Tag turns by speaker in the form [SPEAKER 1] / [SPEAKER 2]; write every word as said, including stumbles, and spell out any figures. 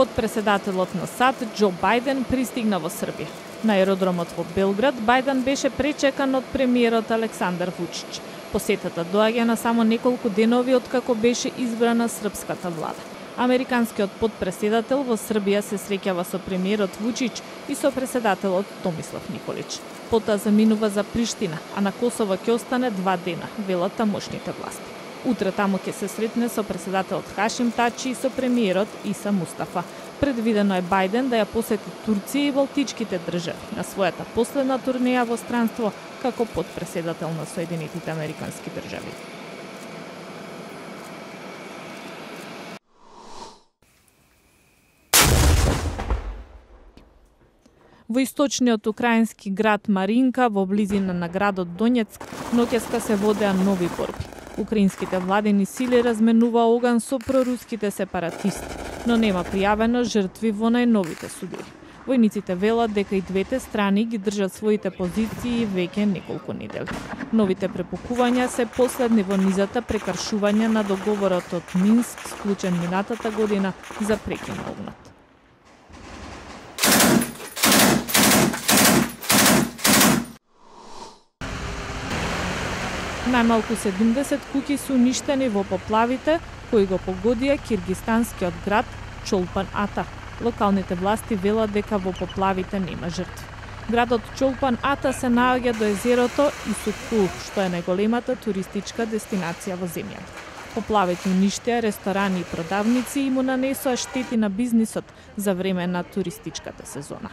[SPEAKER 1] Подпредседателот на САД Џо Бајден пристигна во Србија. На аеродромот во Белград Бајден беше пречекан од премиерот Александар Вучич. Посетата доаѓа на само неколку денови откако беше избрана српската влада. Американскиот подпредседател во Србија се среќава со премиерот Вучич и со председателот Томислав Николич. Потоа заминува за Приштина, а на Косово ќе остане два дена, велат тамошните власти. Утре таму ќе се сретне со председателот Хашим Тачи и со премиерот Иса Мустафа. Предвидено е Бајден да ја посети Турција и Балтичките држави на својата последна турнеја во странство како подпредседател на Соединетите Американски држави. Во источниот украински град Маринка, во близина на градот Донецк, ноќеска се водеа нови борби. Украинските владени сили разменува оган со проруските сепаратисти, но нема пријавено жртви во најновите судири. Војниците велат дека и двете страни ги држат своите позиции веќе неколку недели. Новите препукувања се последни во низата прекршувања на договорот од Минск склучен минатата година за прекин на огнот. Најмалку седумдесет куќи се уништени во поплавите кои го погодија киргистанскиот град Чолпан Ата. Локалните власти велат дека во поплавите нема жртви. Градот Чолпан Ата се наоѓа до езерото Исукул, што е најголемата туристичка дестинација во земјата. Поплавите уништија ресторани и продавници и му нанесоа штети на бизнисот за време на туристичката сезона.